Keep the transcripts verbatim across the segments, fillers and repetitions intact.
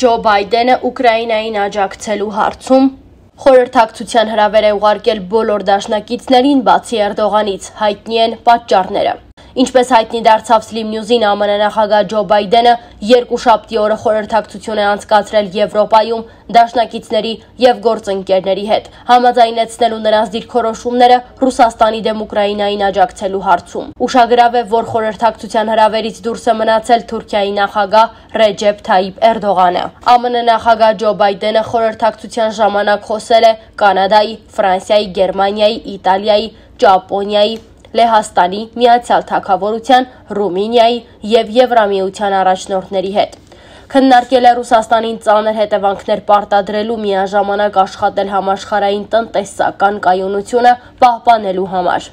Ջո Բայդենը Ուկրաինային աջակցելու հարցում խորհրդակցության հրավեր է ուղարկել բոլոր դաշնակիցներին, բացի Էրդողանից, հայտնի են պատճառները։ Ինչպես հայտնի դարձավ Slim News-ին, ԱՄՆ նախագահ Ջո Բայդենը երկուշաբթի օրը խորհրդակցություն է անցկացրել Եվրոպայում դաշնակիցների եւ գործընկերների հետ, համաձայնեցնելու նրանց դիրքորոշումները Ռուսաստանի դեմ Ուկրաինային աջակցելու հարցում։ Ուշագրավ է, որ խորհրդակցության հրավերից դուրս է մնացել Թուրքիայի նախագահ Ռեջեփ Թայիփ Էրդողանը։ ԱՄՆ նախագահ Ջո Բայդենը խորհրդակցության ժամանակ խոսել է Կանադայի, Ֆրանսիայի, Գերմանիայի, Իտալիայի, Ճապոնիայի, Լեհաստանի, Միացյալ Թագավորության, Ռումինիայի եւ Եվրամիության առաջնորդների հետ։ Քննարկել է Ռուսաստանին ծանր հետևանքներ պարտադրելու, միաժամանակ աշխատել համաշխարհային տնտեսական կայունությունը պահպանելու համար։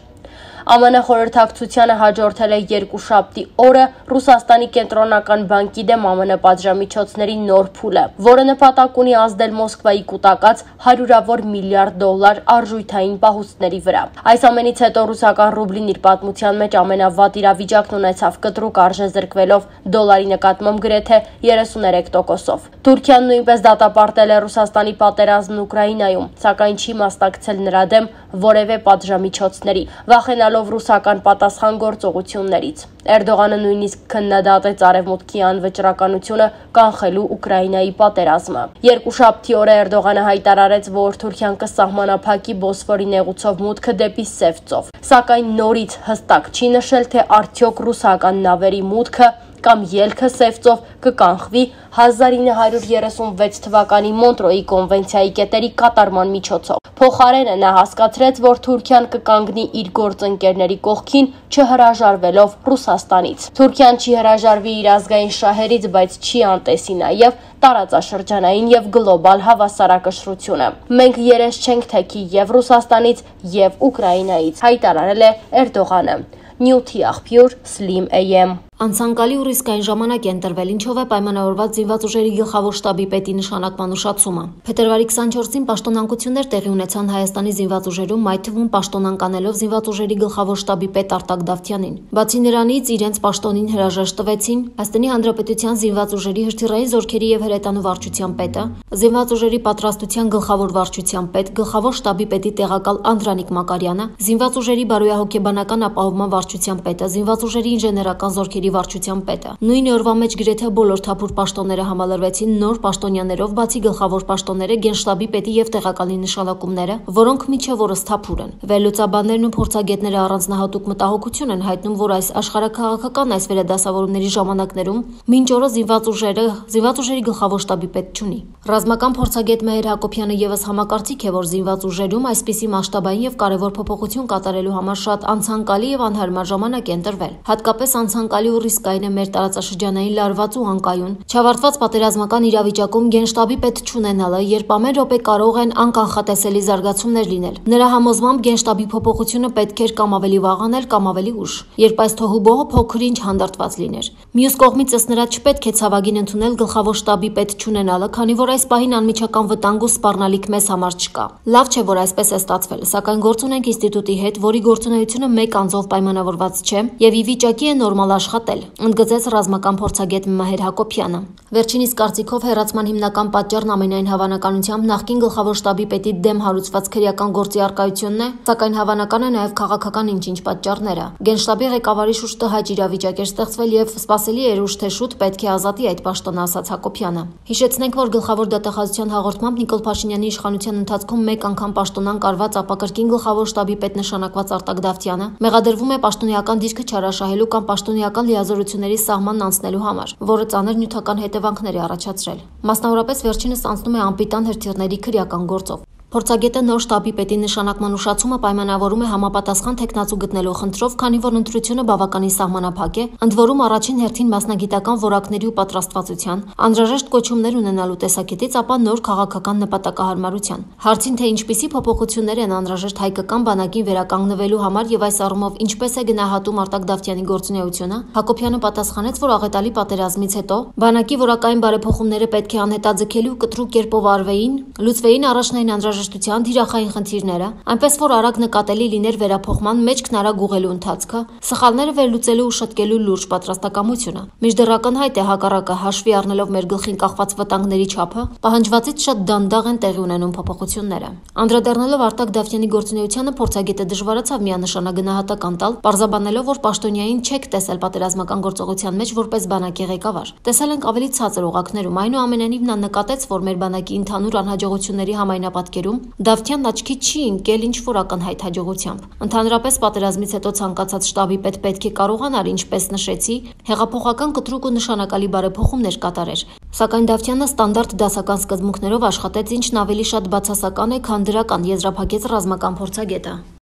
ԱՄՆ խորհրդակցությանը հաջորդել է երկուշաբթի օրը Ռուսաստանի կենտրոնական բանկի դեմ ԱՄՆ պատժամիջոցների նոր փուլը, որը նպատակ ունի ազդել Մոսկվայի կուտակած հարյուրավոր միլիարդ դոլար արժույթային պահուստների վրա։ Այս ամենից հետո ռուսական ռուբլին իր պատմության մեջ ամենավատ իրավիճակն ունեցավ, կտրուկ արժե զրկվելով դոլարի նկատմամբ գրեթե երեսուներեք տոկոսով։ Թուրքիան նույնպես դատապարտել է Ռուսաստանի պատերազմն Ուկրաինայում, սակայն չի մասնակցել նրա դեմ որևէ պատժամիջոցների, վախենալով ռուսական պատասխանատվություններից։ Էրդողանը նույնիսկ քննադատեց Արևմուտքի անվճռականությունը կանխելու Ուկրաինայի պատերազմը։ Երկուշաբթի օրը Էրդողանը հայտարարեց, որ Թուրքիան կսահմանափակի Բոսֆորի նեղուցով մուտքը դեպի Սև ծով, սակայն նորից հստակ չի նշել, թե արդյոք ռուսական նավերի մուտքը կամ ելքը Սև ծով կկանխվի հազար ինը հարյուր երեսունվեց թվականի Մոնտրոյի կոնվենցիայի կետերի կատարման միջոցով։ Փոխարենը նա հասկացրեց, որ Թուրքիան կկանգնի իր գործընկերների կողքին, չհրաժարվելով Ռուսաստանից։ Թուրքիան չի հրաժարվի իր ազգային շահերից, բայց չի անտեսի նաև տարածաշրջանային եւ գլոբալ հավասարակշռությունը։ Մենք երես չենք թեքի եւ Ռուսաստանից եւ Ուկրաինայից, հայտարարել է Էրդողանը։ Նյութի աղբյուր Slim A M։ Անցանկալի ու ռիսկային ժամանակ է ընտրվել, ինչով է պայմանավորված զինված ուժերի գլխավոր շտաբի պետի նշանակման ուշացումը։ Փետրվարի քսանչորսին պաշտոնանկություններ տեղի ունեցան Հայաստանի զինված ուժերում, այդ թվում պաշտոնանկ անելով զինված ուժերի գլխավոր շտաբի պետ Արտակ Դավթյանին։ Բացի նրանից, իրենց պաշտոնին հրաժեշտ տվեցին Հայաստանի Հանրապետության զինված ուժերի հրթիռային զորքերի եւ հրետանու վարչության պետը, զինված ուժերի պատրաստության գլխավոր վարչության պետ, գլխավոր շտաբի պետի տեղակալ Անդրանիկ Մակարյանը, զինված ուժերի բարոյահոգեբանական ապահովման վարչության պետը, զինված ուժերի ինժեներական զորքերի վարչության պետը։ Նույն օրվա մեջ գրեթե բոլոր թափուր պաշտոնները համալրվեցին նոր պաշտոնյաներով, բացի գլխավոր պաշտոնները, գենշտաբի պետի եւ տեղակալի նշանակումները, որոնք միջև օրս թափուր են։ Վերլուծաբաններն ու փորձագետները առանձնահատուկ մտահոգություն են հայտնում, որ այս աշխարհաքաղաքական այս վերադասավորումների ժամանակներում մինչ օրը զինված ուժերը զինված ուժերի գլխավոր շտաբի պետ չունի։ Ռազմական փորձագետ Մեհեր Հակոբյանը եւս համակարծիք է, որ զինված ուժերում այսպիսի մասշտաբային եւ կարեւոր փոփոխություն կատարելու համար շատ անցանկալի եւ անհարմար ժամանակ է ընտրվել։ Հատկապես անցանկալի ու ռիսկային է մեր տարածաշրջանային լարված ու անկայուն, չավարտված պատերազմական իրավիճակում գենշտաբի պետ չունենալը, երբ ամեն րոպե կարող են անկանխատեսելի զարգացումներ լինել։ Նրա համոզմամբ գենշտաբի փոփոխությունը պետք էր կամ ավելի վաղ անել, կամ ավելի ուշ, երբ այս թոհուբոհը փոքր-ինչ հանդարտված լիներ։ Մյուս կողմից ըստ նրա չպետք է ցավագին ընդունել գլխավոր շտաբի պետ չունենալը, քանի որ այս պահին անմիջական վտանգ ու սպառնալիք մեզ համար չկա։ Լավ չէ, որ այսպես է ստացվել, սակայն գործ ունենք ինստիտուտի հետ, որի գործունեությունը մեկ անձով պայմանավորված չէ եւ ի վիճակի է նորմալ աշխատել, ընդգծեց ռազմական փորձագետ Մեհեր Հակոբյանը։ Վերջինիս կարծիքով հեռացման հիմնական պատճառն ամենայն հավանականությամբ նախկին գլխավոր շտաբի պետի դեմ հարուցված քրեական գործի առկայությունն է, սակայն հավանական է նաև քաղաքական ինչ-ինչ պատճառները։ Գենշտաբի ղեկավարի շուրջ տհաճ իրավիճակ էր ստեղծվել եւ սպասելի էր ուշ թե շուտ պետք է ազատի այդ պաշտոնը, ասաց Հակոբյանը։ Հիշեցնենք, որ գլխավոր դատախազության հաղորդմամբ Նիկոլ Փաշինյանի իշխանության ընթացքում մեկ անգամ պաշտոնանկ արված ապակրկին գլխավոր շտաբի պետ նշանակված Արտակ Դավթյանը մեղադրվում է պաշտոնեական դիրքը չարաշահելու կամ պաշտոնեական լիազորությունների սահմանն անցնելու համար, որը ծանր նյութական հետևանքներ է առաջացրել։ Մասնավորապես վերջինս անցնում է անպիտան հրթիռների քրեական գործով։ Փորձագետը նոր շտաբի պետի նշանակման ուշացումը պայմանավորում է համապատասխան տեխնացու գտնելու խնդրով, քանի որ ընտրությունը բավականին սահմանափակ է, ընդ որում առաջին հերթին մասնագիտական որակների ու պատրաստվածության, անհրաժեշտ կոչումներ ունենալու տեսակետից, ապա նոր քաղաքական նպատակահարմարության։ Հարցին, թե ինչպիսի փոփոխություններ են անհրաժեշտ հայկական բանակին վերականգնվելու համար եւ այս առումով ինչպես է գնահատում Արտակ Դավթյանի գործունեությունը, Հակոբյանը պատասխանեց, որ աղետալի պատերազմից հետո բանակի որակային բարեփոխումները պետք է անհետաձգելի ու կտրուկ կերպով արվեին, լուծվեին առաջնային անհրաժեշտ անհրաժեշտության թիրախային խնդիրները, այնպես որ արագ նկատելի լիներ վերափոխման մեջքն արագ ուղղելու ընթացքը, սխալները վերլուծելու ու շտկելու լուրջ պատրաստակամությունը։ Մինչդեռ ակնհայտ է հակառակը հաշվի առնելով մեր գլխին կախված վտանգների չափը, պահանջվածից շատ դանդաղ են տեղի ունենում փոփոխությունները։ Անդրադառնալով Արտակ Դավթյանի գործունեությանը, փորձագետը դժվարացավ միանշանակ գնահատական տալ, պարզաբանելով, որ Պաշտոնյային չեք տեսել պատերազմական գործողության մեջ որպես բանակի ղեկավար։ Տեսել ենք ավելի ցածր օղակներում, այնուամենայնիվ նա նկատեց, որ մեր բանակի ընդհանուր անհաջողությունների համայնապատկերում Դավթյանն աչքի չի ընկել ինչ-որ ակնհայտ հաջողությամբ։ Ընդհանրապես պատերազմից հետո ցանկացած շտաբի պետ պետք է կարողանար, ինչպես նշեցի, հեղափոխական կտրուկ ու նշանակալի բարեփոխումներ կատարեր։ Սակայն Դավթյանը ստանդարտ դասական սկզբունքներով աշխատեց, ինչն ավելի շատ բացասական է, քան դրական, եզրափակեց ռազմական փորձագետը։